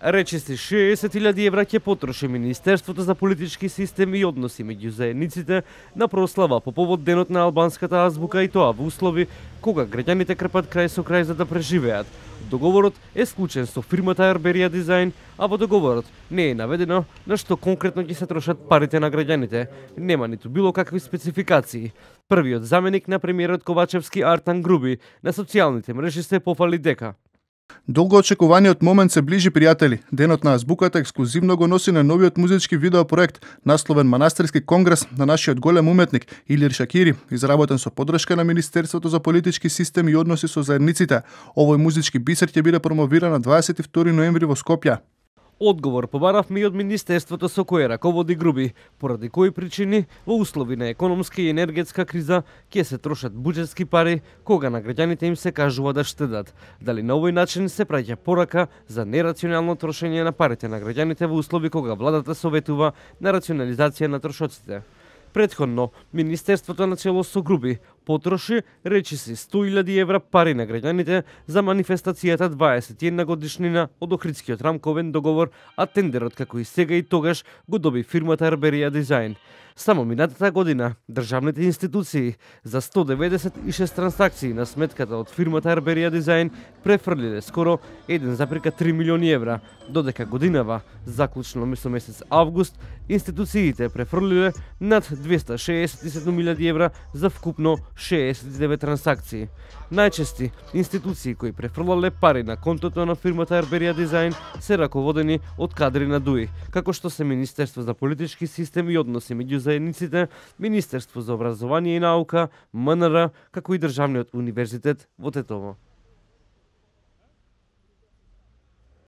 Речиси 60.000 евра ќе потроши Министерството за политички системи и односи меѓу заедниците на прослава по повод денот на албанската азбука, и тоа во услови кога граѓаните крпат крај со крај за да преживеат. Договорот е склучен со фирмата Арберија Дизајн, а во договорот не е наведено на што конкретно ќе се трошат парите на граѓаните. Нема ниту било какви спецификации. Првиот заменик на премиерот Ковачевски, Артан Груби, на социјалните мрежи се пофали дека долго очекуваниот момент се ближи, пријатели. Денот на азбуката ексклузивно го носи на новиот музички видеопроект, насловен Манастирски конгрес на нашиот голем уметник Илир Шакири, изработен со поддршка на Министерството за политички системи и односи со заедниците. Овој музички бисер ќе биде промовиран на 22 ноември во Скопје. Одговор побаравме и од Министерството со кое раководи Груби, поради кои причини во услови на економска и енергетска криза ќе се трошат буџетски пари кога на граѓаните им се кажува да штедат. Дали на овој начин се праќа порака за нерационално трошење на парите на граѓаните во услови кога владата советува на рационализација на трошоците. Претходно, Министерството на чело со Груби потроши речиси 100.000 евра пари на граѓаните за манифестацијата 21 годишнина од Охридскиот рамковен договор, а тендерот како и сега и тогаш го доби фирмата Арберија Дизајн. Само минатата година државните институции за 196 трансакции на сметката од фирмата Арберија Дизајн префрлиле скоро 1,3 милиони евра, додека годинава, заклучно со месец август, институциите префрлиле над 267.000 евра за вкупно 69 трансакции. Најчести институции кои префрлале пари на контото на фирмата Арберија Дизајн се раководени од кадри на ДУИ, како што се Министерство за политички системи и односи меѓу заедниците, Министерство за образование и наука, МНР, како и Државниот универзитет во Тетово.